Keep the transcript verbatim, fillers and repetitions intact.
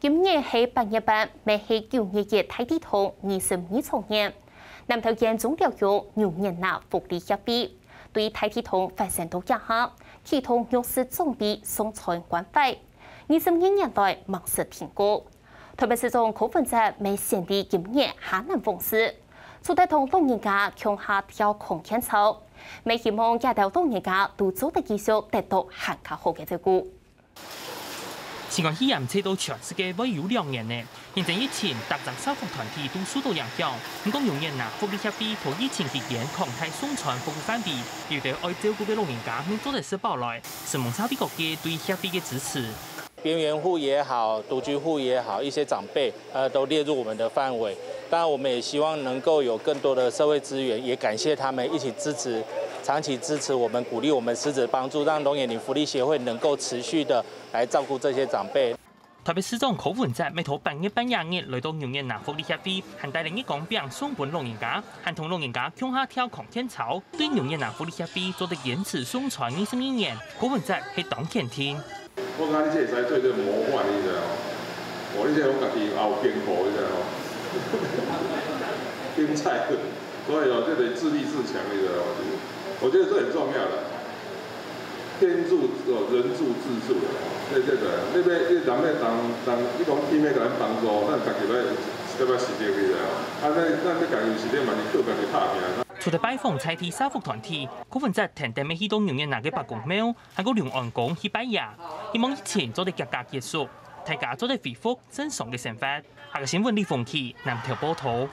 今年係八月半，乜係九月一大地動二十二週年。南投縣中寮鄉牛眼林福利協會對大地動發生到這下，啟動弱勢長輩送餐關懷，二十二年來吂識停過。台北市長柯文哲乜選在今年下南訪視，除忒同老人家共下跳康健操，乜希望這兜老人家都做得繼續得到還較好个照顧。 新冠肺炎吹到全世界會有兩年呢，因為疫情，逐隻社福團體都受到影響。毋過牛眼林福利協會在疫情期間擴大送餐服務範圍，有兜愛照顧个老人家乜做得食飽來，承蒙社會各界對協會个支持。邊緣戶也好，獨居戶也好，一些長輩，呃，都列入我們的範圍。當然，我們也希望能夠有更多的社會資源，也感謝他們一起支持，長期支持我們，鼓勵我們實質幫助，讓龍眼林福利協會能夠持續的來照顧這些長輩。台北市長柯文哲乜在八月半這日來到牛眼林福利協會，還帶領一公餅送分老人家，還同老人家共下跳康健操。對牛眼林福利協會做得堅持送餐二十二年，柯文哲係當肯定。 我感覺你這會使做一个模範，你知道嗎？哦，你這我家己也有變化，你知道嗎？變菜了，所以哦，這个自立自強，你知道嗎？我覺得這很重要的。天助哦，人助自助的，對對對，你要你人要當當，你講天要共人幫助，咱家己要要不要實踐，你知道嗎？啊，咱咱你家己有實踐嘛，你靠家己拍拚。除忒拜訪在地社福團體，柯文哲跈等乜去到牛眼林个伯公廟， 還過龍安宮去拜爺，希望疫情做得遽遽結束，大家做得恢復正常个生活。下个新聞李鳳琪南投報導。